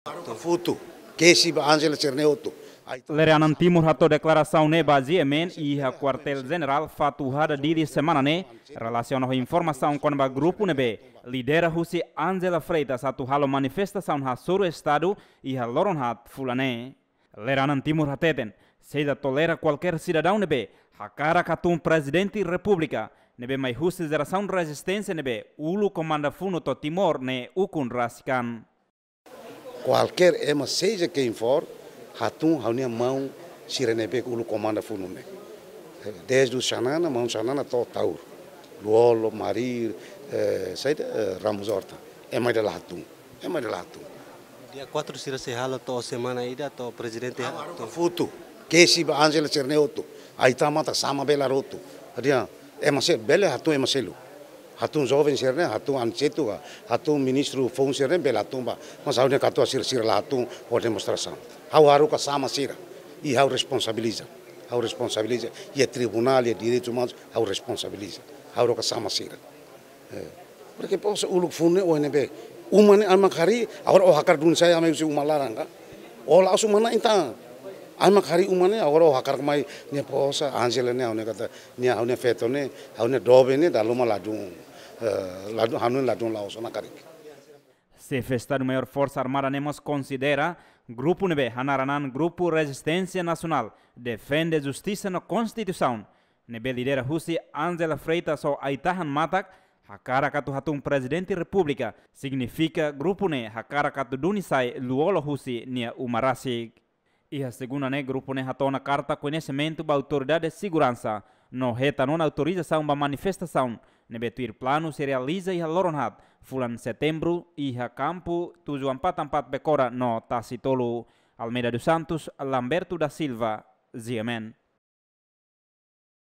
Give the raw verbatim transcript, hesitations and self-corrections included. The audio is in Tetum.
Futu, kesi ba Angela sira-ne'e hotu. Ai, Lere-anan Timur hato'o deklarasaun ne'e ba G M N iha Kuartél Jenerál Fatuhada Dili semana ne'e, relasiona ho informasaun kona-ba grupu ne'ebé lidera husi Angela Freitas atu halo manifestasaun hasoru Estadu iha loron haat fulan ne'e. Lere-anan Timur hateten, sei la tolera kualkér sidadaun ne'ebé hakarak hatún Prezidente Repúblika ne'ebé mai husi jerasaun rezisténsia ne'ebé uluk komanda funu to'o Timor ne'e ukun rasik an. Kualkér ema, seja quem for, hatún ha'u-nia maun sira ne'ebé uluk komanda funu ne'e. Desde Xanana, maun Xanana to'o Taur. Lú-Olo, Marir, eh, saida, eh, Ramos Horta. Ema ida la hatún. Ema ida la hatún. Dia kuatru sira sei halo to'o semana ida to'o prezidente hatún. Futu, kesi ba Angela sira-ne'e hotu. Ai-ita mata sama bela rotu. Dia, ema se bele hatún ema seluk. Hatún joven sira-ne'e, hatún Aniceto ka, hatún ministru foun sira-ne'e bele hatún ba. Mas ha'u-nia katuas sira, sira la hatún ho demonstrasaun. Ha'u haruka sama sira. I ha'u responsabiliza. Ha'u responsabiliza. Iha tribunál, iha direitus umanus, ha'u responsabiliza. Ha'u haruka sama sira. Eh, porque posa uluk funu ne'e ohin ne'ebé. Uma ne'e ai mak harii, agora ó hakarak duni sai ami husi uma laran ka. Ó la'ós uma na'in tan. Ai mak harii uma ne'e, agora ó hakarak mai nia posa, Angela ne'e, ha'u-nia katak, nia ha'u-nia feto ne'e, ha'u-nia doben ne'e, dala ruma ladún, eh, ladún, ha'u-nia ladún la'ós ona karik. Xefe Estadu-Maiór Forsa Armada ne'e mós konsidera grupu ne'ebé hanaran an Grupu Rezisténsia Nasionál Defende Justisa no Konstituisaun, ne'ebé lidera husi Angela Freitas ho ai-tahan matak, hakarak atu hatún Prezidente Repúblika, signifika grupu ne'e hakarak atu duni sai Lú-Olo husi nia uma rasik. Iha segunda ne'e grupu ne'e hato'o ona karta koñesimentu ba Autoridade Seguransa, no hetan ona autorizasaun ba manifestasaun ne'ebé tuir planu sei realiza iha loron haat fulan Setembru iha kampu tujuh empat empat Becora no Tasi Tolu. Almeida dos Santos, Lamberto da Silva, G M N.